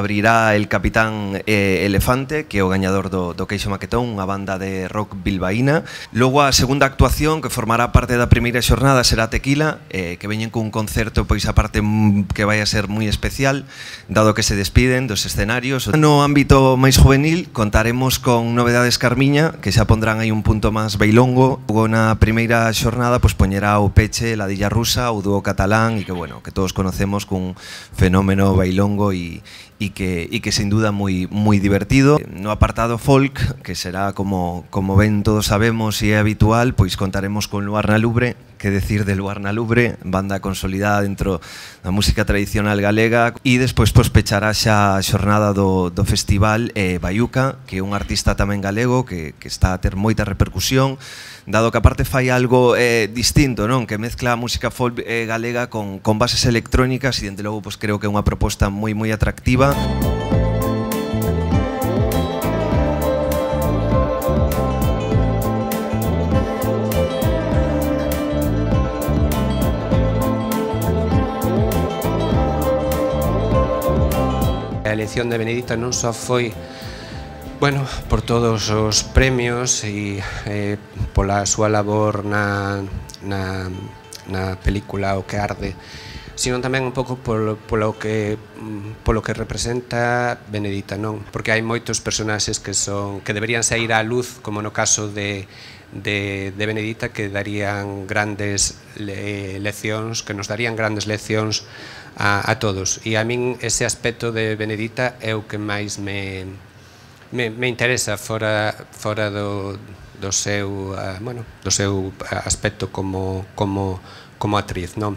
abrirá el Capitán Elefante, que é o gañador do Queixo Maquetón, unha banda de rock bilbaína. Logo a segunda actuación, que formará parte da primeira xornada, será Tequila, que veñen cun concerto pois a parte que vai a ser moi especial, dado que se despiden dos escenarios. No ámbito máis juvenil contaremos con Novedades Carmiña, que xa pondrán aí un punto máis bailongo. Logo na primeira xornada pois poñerá o peche La Dilla Rusa, o dúo catalán, e que bueno, que todos conocemos cun fenómeno bailongo e que sin duda moi divertido. No apartado folk, que será como ben todos sabemos e é habitual, pois contaremos con Luarna Lubre. Que decir de Luarna Lubre, banda consolidada dentro da música tradicional galega, e despois pois pechará xa a xornada do festival Baiuca, que é un artista tamén galego que está a ter moita repercusión, dado que aparte fai algo distinto, non? Que mezcla a música folk galega con bases electrónicas, e dende logo pois creo que é unha proposta moi atractiva. A elección de Benedita non só foi, bueno, por todos os premios e pola súa labor na película O que arde, sino tamén un pouco polo que representa Benedita, non? Porque hai moitos personaxes que deberían sair á luz, como no caso de Benedita, que darían grandes leccións, que nos darían grandes leccións a todos. E a min ese aspecto de Benedita é o que máis me interesa fora do seu aspecto como actriz, non?